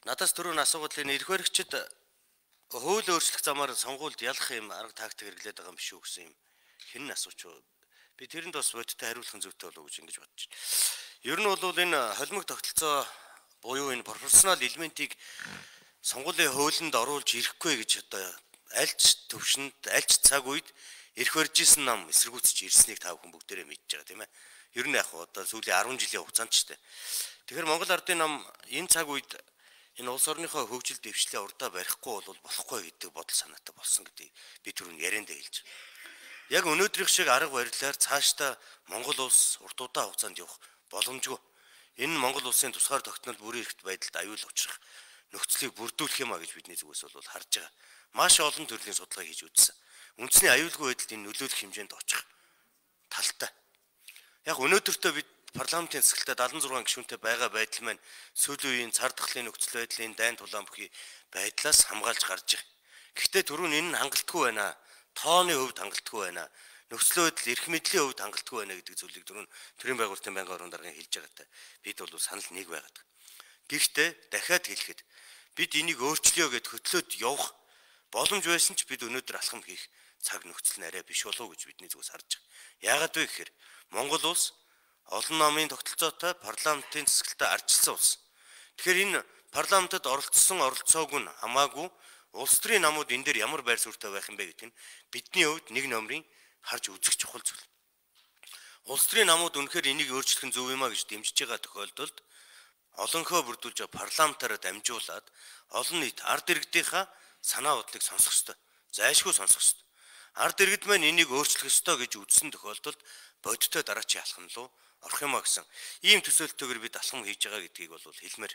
Надаас түрүүн асуугаад энэ эрх баригчид хууль өөрчлөх замаар сонгуульд ялах юм арга тактик хэрэглээд байгаа юм биш үү гэсэн юм. Хэн нь асууч вэ? Би тэрэнд бас бодиттой хариулах зүйтэй болов уу гэж ингэж бодож байна. Ер нь бол энэ холимог тогтолцоо буюу энэ профессионал элементийг сонгуулийн хуулинд оруулж ирэхгүй гэж одоо альч төвшөнд альч цаг үед эрх барьж исэн нам эсэргүүцэж ирснийг та бүхэн бүгдээрээ мэдж байгаа тийм ээ. Ер нь яг одоо сүүлийн 10 жилийн хугацаанд ч тийм. Тэгэхээр Монгол Ардын нам энэ цаг үед энэ улс орныхоо хөгжил дэвшлээ урдаа барихгүй бол болохгүй гэдэг бодол санаатай болсон гэдэг би түрүүн яриандаа хэлж байна. Яг өнөөдрийнх шиг арга барилаар цаашдаа Монгол улс урт удаан хугацаанд явах боломжгүй. Энэ нь Монгол улсын тусгаар тогтнол бүрийн эрхт байдалд аюул учрах нөхцөлийг бүрдүүлэх юм а гэж бидний зүгээс бол харж байгаа. Маш олон төрлийн судалгаа хийж үзсэн. Үндэсний аюулгүй байдалд энэ нөлөөлөх хэмжээнд очих талтай. Яг өнөөдөртөө бид парламентын засагтаа 76 гишүүнтэй байгаа байдал маань сүүлийн үеийн цар тахлын нөхцөл байдлын дайн тулаан бүхий байдлаас хамгаалж гарч байгаа. Гэхдээ түрүүн энэ нь хангалтгүй байна. Тооны хувьд хангалтгүй байна. Нөхцөл байдал эрх мэдлийн хувьд хангалтгүй байна гэдэг зүйлийг түрүүн төрийн байгуулалтын байнгын орон даргын хэлж байгаатай бид бол санал нэг байгаад. Гэхдээ дахиад хэлэхэд бид энийг өөрчлөё гэд хөтлөөд явах боломж байсан ч бид өнөөдөр алхам хийх цаг нөхцөл нь арай биш болов уу гэж бидний зүгээс харж байгаа. Яагаад вэ гэхээр Монгол улс олон намын тогтолцоотой парламентын засаглалтад ардчилсан улс. Тэгэхээр энэ парламентод оролцоог нь хамаагүй улс төрийн намууд энэ дээр ямар байр суурьтай байх юм бэ гэдэг нь бидний хувьд нэг номерын харж үзэх чухал зүйл. Улс төрийн намууд үнэхээр энийг өөрчлөх нь зөв юм а гэж дэмжиж байгаа тохиолдолд олонхоо бүрдүүлж парламентаараа дамжуулаад олон нийт ард иргэдийнхаа санаа бодлыг сонсох ёстой. Зайлшгүй сонсох ёстой. Ард иргэд маань энийг өөрчлөх ёстой гэж үзсэн тохиолдолд бодиттой дараачийн алхам руу орох юм а гэсэн ийм төсөөлтөөр бид алхам хийж байгаа гэдгийг бол хэлмээр.